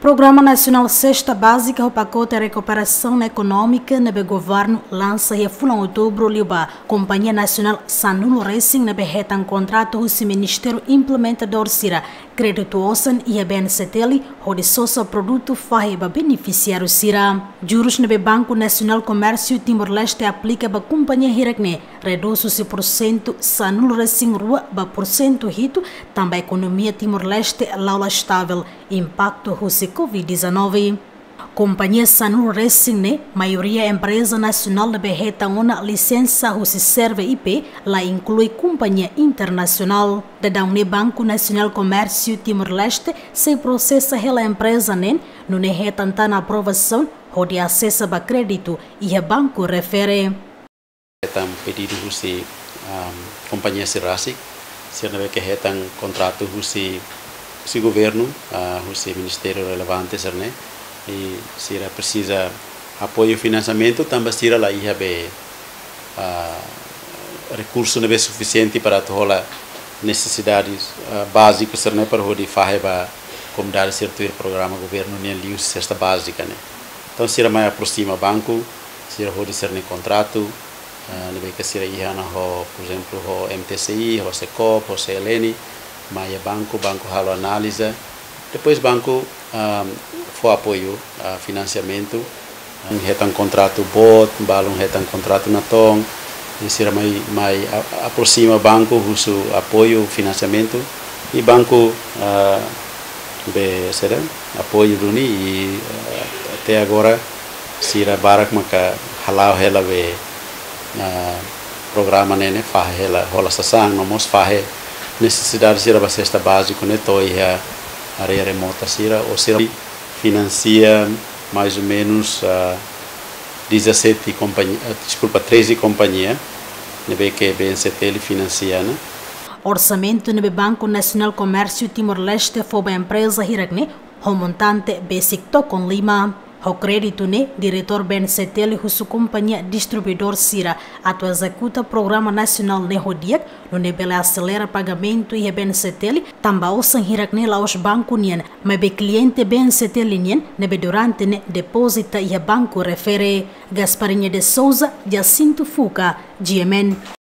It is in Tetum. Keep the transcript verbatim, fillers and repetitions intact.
Programa Nasionál Sesta Bázika ho pakote rekuperasaun ekonómika ne'ebé governu lansa iha fulan Outubru liu ba Kompañia Nasionál sanulu resin ne'ebé hetan kontratu husi ministériu implementadór sira kréditu osan iha B N C T L hodi sosa produtu fahe ba benefisiáriu sira. Jurus ne'ebé Banku Nasionál Komérsiu Timor-Leste aplika ba kompañia hirak-ne'e redús husi pursentu sanulu resin rua ba pursentu hitu, tanba ekonomia Timor-Leste la'o la estavel, impaktu husi covid dezanove. Kompañia sanulu resin ne'e, maioria empreza nasionál ne'ebé hetan ona lisensa husi SERVE I P, la inklui kompañia internasionál. Daudaun ne'e Banku Nasionál Komérsiu Timor-Leste sei prosesa hela empreza neen, nune'e hetan tan aprovasaun hodi asesa ba kréditu iha banku refere. Hetan pedidu husi, am, kompañia sira rasik, sira ne'ebé ke hetan kontratu husi, husi governu, ah, husi ministériu relevante sira-ne'e, i sira presiza apoiu finansiamentu, tanba sira la iha be, ah, rekursu ne'ebé sufisiente para atu hola nesesidades, ah, báziku sira-ne'e para hodi fahe ba komunidade sira tuir programa governu nian liuhusi sesta bázika ne'e. Entaun, sira mai aprosima banku, sira hodi sira-nia kontratu, ah, ne'ebé ke sira iha ona ho, por ezemplu, ho M T C I, ho SECOP, ho C L N, mai iha banku, banku halo analiza. Depois banku, ah, fó apoiu, ah, finansiamentu. Hetan kontratu boot, balun hetan kontratu natoon, i sira mai, mai a-, aprosima banku husu apoiu finansiamentu. I banku, ah, be sira apoiu duni i, ah, até agora sira barak maka hala'o hela be, ah, programa ne'e ne'e fahe hela, hola sasán, no mós fahe nesesidade sira ba sesta báziku ne'e to'o iha área remota sira, ou sira finansia mais ou menus, ah, dezassete kompañia, ah, deskulpa, treze kompañia ne'ebé ke B N C T L finansia ona. Orsamentu ne'ebé Banku Nasionál Komérsiu Timor-Leste fó ba empreza hirak-ne'e ho montante besik tokon lima. Ho kréditu ne'e, diretór B N C T L husu kompañia distribuidór sira atu ezekuta programa nasionál ne'e ho di'ak, nune'e bele aselera pagamentu iha B N C T L, tanba osan hirak-ne'e la'ós banku nian, maibé kliente B N C T L nian ne'ebé durante ne'e depozita iha banku refere. Gasparinha de Souza, Jacinto Fuca, G M N.